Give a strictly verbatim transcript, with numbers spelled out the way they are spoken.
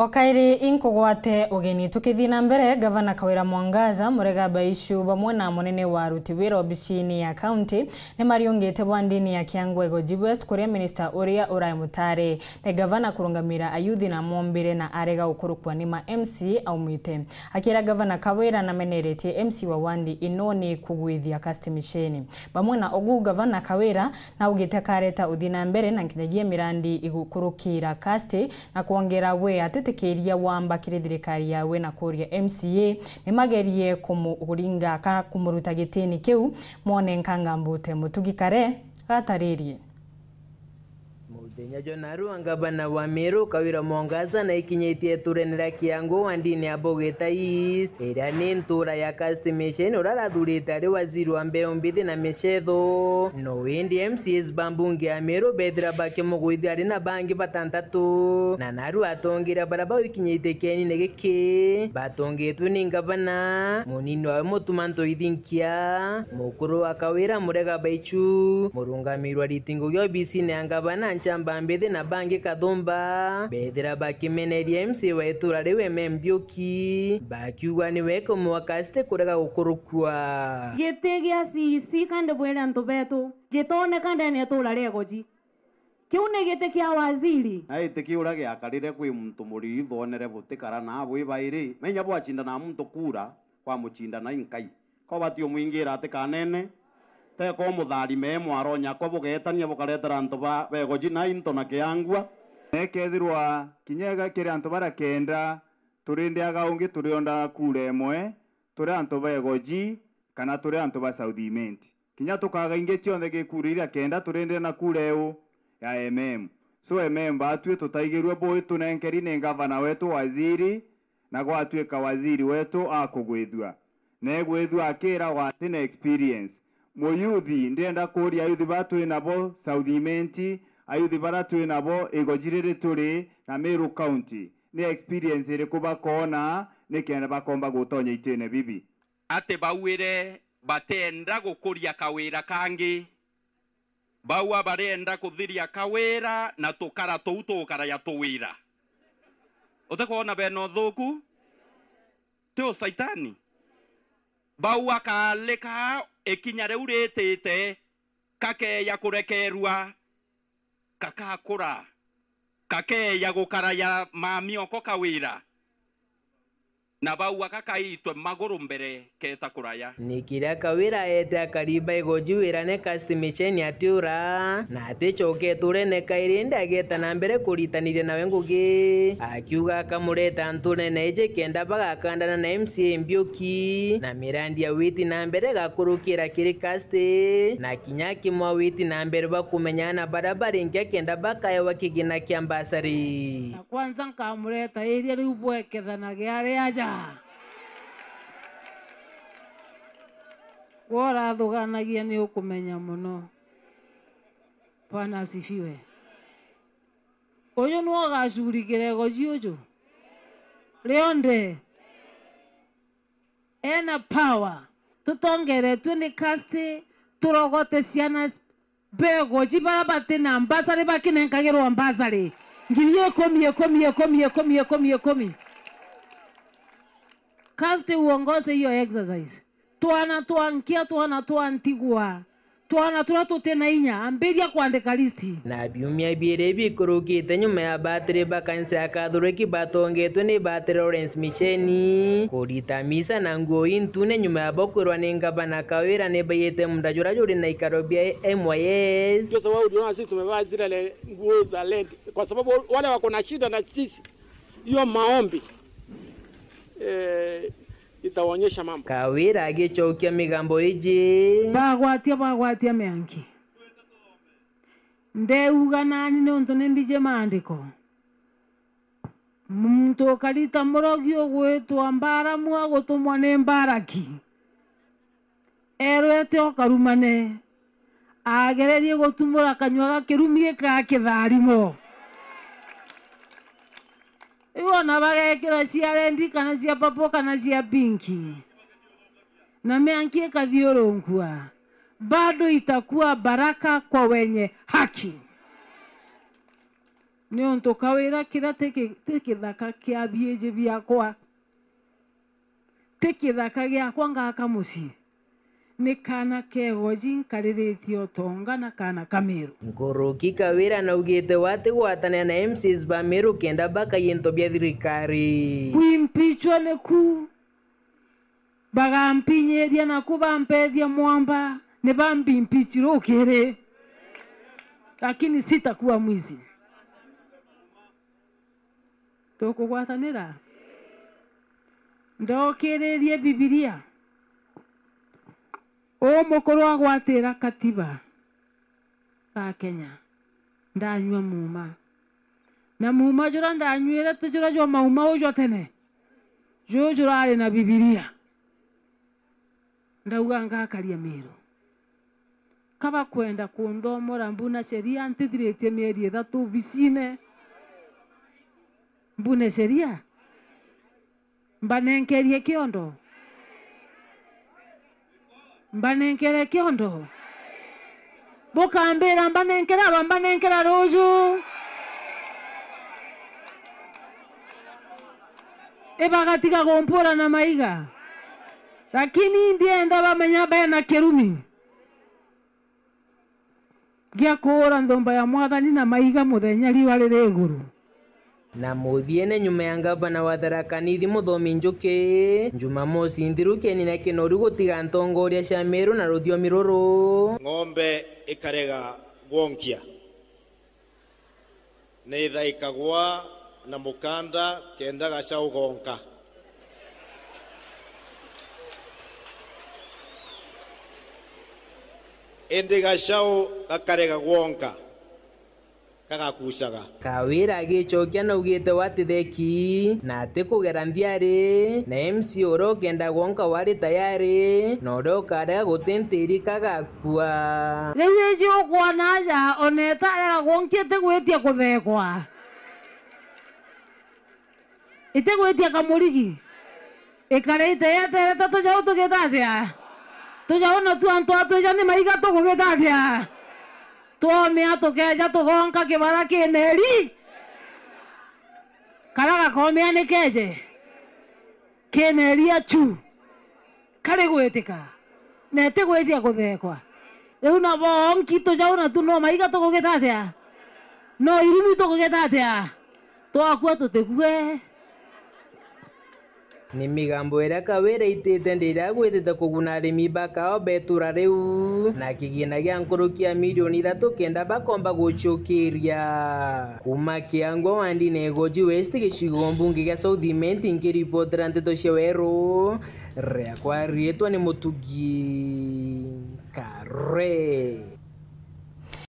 O kairi inkugwate ugeni. Tukithii na mbere, Gavana Kawira Mwangaza, Murega Baichu, bamwe na munene wa aruti wira obicini ya kaunti, ni mariungite bwa ndini ya Kiangwa Igoji West, kuria minista uria urai mutari ni gavana kurungamira ayuthi na mombire na arega gukurukua ni ma M C A aumite. Akira Gavana Kawira nameneretie M C A wa wandi ino ni kugwithia Cast Mission. Bamwe na ugu, Gavana Kawira naugite akareta uthii na mbere na nkinyagia mirandi igukurukira Cast na kwongera we atitikiria wamba kiri thirikari yawe na kuria M C A nimagerie kumuringa kana kumuruta gitini kiu. Mwone Nkanga Mbute Mutugi Kare gataririe. Muthenya jwa narua, ngavana wa Meru Kawira Mwangaza naikinyitie iturene ria Kiangwa wandini ya Bogita East, iria ni ntura ya Cast Mission, uria arathurite ari waziri wa mbeu mbithi na micetho. No indi M C As ba mbunge ya Meru bethira bakimugwithia ari na bangi batantatu, na narua atongeria baria bau ikinyitie kienine giki batongitwe ni ngavana, munini wawe Mutuma Ntoithinkia, mukuru wa Kawira Murega Baichu, murungamiri wa riti ngugi obisine ya ngavana Nchamba Mbithi na bangi kathumba, bethira bakimeneria M C A wa itura riu Eme Mbiuki, bakiuga niwe kumwaka Cast kurega gukurukua. Giti gia C E C kandi bwire antu betu, gitoneka ndene ya itura ria Igoji. Kiu ni giti kia waziri. Na giti kiu uria giakarire kwi muntu muriri thonere butikara na bwi bairi, menya bwacindana na muntu kura, kwamucindana i Nkai. Ko bati umwingira atikanene, teko mutharime mwaronya ko bugetania bukaretera antu ba, ba Igoji na into na Kiangwa. Na ikethirwa kinya iga kiri antu baria kenda, turi ndiaga ungi turiondaga kura imwe, turi antu ba Igoji kana turi antu ba South Imenti. Kinya tukaga ingi cionthe gi kura iria kenda, turi ndene na kura eu ya M M. So M M batwi tutaigirue bui tunenkeri ni ngavana wetu waziri, na gwatuika waziri wetu akugwithua. Na egwithua akiragwa ati na experience. Muyuthi, ndienda kuria ayuthi ba twi nabo South Imenti, ayuthi bara twi nabo Igoji riri turi na Meru County, ni experience iriku bakoona nikenda bakomba gutonya itine bibi? Ati bauire batienda gukuria kawira kangi. Bau a barienda kuthiria kawira na tukara tuu tugukaraya tuwira. Utikwona bena uthuku? Ti ucaitani? Bau akalika ikinya riu ritite, kakeeja kurekeerua, kakakura, kakeeja gukaraya mamioko kawira, na bau aka kaitwe maguru mbere keeta kuraya. Ni kiria Kawira eete akari ba Igoji wira ni Cast Mission atiura, na aticoke iturene kairi, indi ageeta na mbere kuritaniria nawe ngugi, akiuga akamureta antu nene iji kenda bagakandana na M C A Mbiuki, na mirandi ya witi na mbere igakurukira kiri Cast, na kinya akimwa witi na mbere bwa kumenyana na baria baringi akenda bakaewa kigina kia mbasari. Na kwanza nkamureta iria riu bwekethanagia ari aja. Gwe urathuganagia ni ukumenya mono. Bwana asifiwe. Uyu niwe ugacurikira Igoji uju rionthe. Ena power. Tutongeretue ni Cast, turogote ciana ba Igoji bara bati na mbasari bakinenkagirwa mbasari ngiri ikumi, ikumi, ikumi, ikumi, ikumi, ikumi. Cast uongoze hiyo exercise. Twana twa nkia, twana twa ntigwa, twana turia tuti na inya, ambiria kwandika list. Na biumia biiri bikurukite nyuma ya batiri ba kanisa ya Kathoreki batongetwe ni batiri Lawrence Micheni kurita misa na nguo intune nyuma ya bo kwirwa ni ngavana Kawira ni baiyite munda juria juri na ikaro bia M Y S. Ndio sababu uliona sisi tumevaa zile le-, nguo za red, kwa sababu wale wako na shida na sisi, hiyo maombi, eh, itaonyesha mambo. Kawira agicokia migambo iji. Bagwatia, bagwatia mianki. Ndeuga nani niuntu ni mbiji maandiko. Muntu ukarita murogi ugwitwa Mbaramu agutumwa ni Mbaraki. Erwete o karumane, agererie gutumura kanyua ga kirumi gika kitharimo. Riu ona bagekira cia rendi kana cia papo kana cia pinki, na mianki ikathiurunkua, bado itakuwa baraka kwa wenye haki. Niuntu Kawira kiria ti ki-, ti kithaka kia biiji biakwa, ti kithaka giakwa ngaka mucii, ni kaana ka Igoji nkariritie utonga na kaana ka Miru. Nkuruki Kawira naugite we atigwatanira na M C As ba Miru kenda bakaia into bia thirikari. Kwimpichwa niku, bagampinyiria naku bampethia mwamba, ni bambimpichi rukiri, lakini sitakuwa mwizi. Tukugwatanira? Ndokiririe Bibilia. Uu mukuru agwatira katiba ga Kenya, ndanyua muuma. Na muuma juria ndanyuire ti juria jwa mauma uu jwa tene. Juu jurari na Bibilia. Ndauga ngakaria Miru. Ka bakwenda kunthomora mbuna sheria, ntithiritie mieri ithatu obisine. Mbune sheria? Mbanenkerie kiondo? Mbanenkere kiondo? Bukambira mbanenkera aba mbanenkera ruju? Ibagatiga kumpura na maiga. Lakini ndienda bamenya bena kirumi gia kuura nthumba ya Mwathani na maiga muthenya riua riri iguru. Na muthiene, nyuma ya ngavana wa Tharaka Nithi Muthomi Njuki, Jumamosi nthiru kieni na kinoru gutiga ntongoria cia Meru na ruthiomi ruru. Ng'ombe ikarega gwonkia, ni ithaikagwa na mukanda kenda gacau gonka. Indi gacau gakarega gwonka, kagakucaga. Kawira agicokia naugite we atitheki na atikugera nthiari, na M C A uria ukenda gwonka we ari tayari, na uria ukarega guti ntiri kagakua. Riu iji ukwona aja, ona itarega gwonkia itigwitia kuthekwa. Itigwitia kamurigi. Ikarite yeterete tujau tugita atia? Tujau na tu antu atwija ni maiga tugugita atia? Twomia tukeja tugonka kibara kineri. Kara gakomia ni keje. Kineri achu. Kari gwitika, na itigwitia kuthekwa. Riu nabo onki tujau na tu no maiga tugugita atia? No irumi tugugita atia? Twakua tutikue. Ni migambo iria Kawira aitite ndiria agwitite kuguna arimi ba kaao ba itura riu, na kigina gia nkuruki ya milioni ithatu kenda bakomba gucukiria. Kuma Kiangwa wandine Igoji West, gicigo mbunge gia South Imenti, nkiripotera nteto cia Weru, riakwa riitwa ni Mutugi.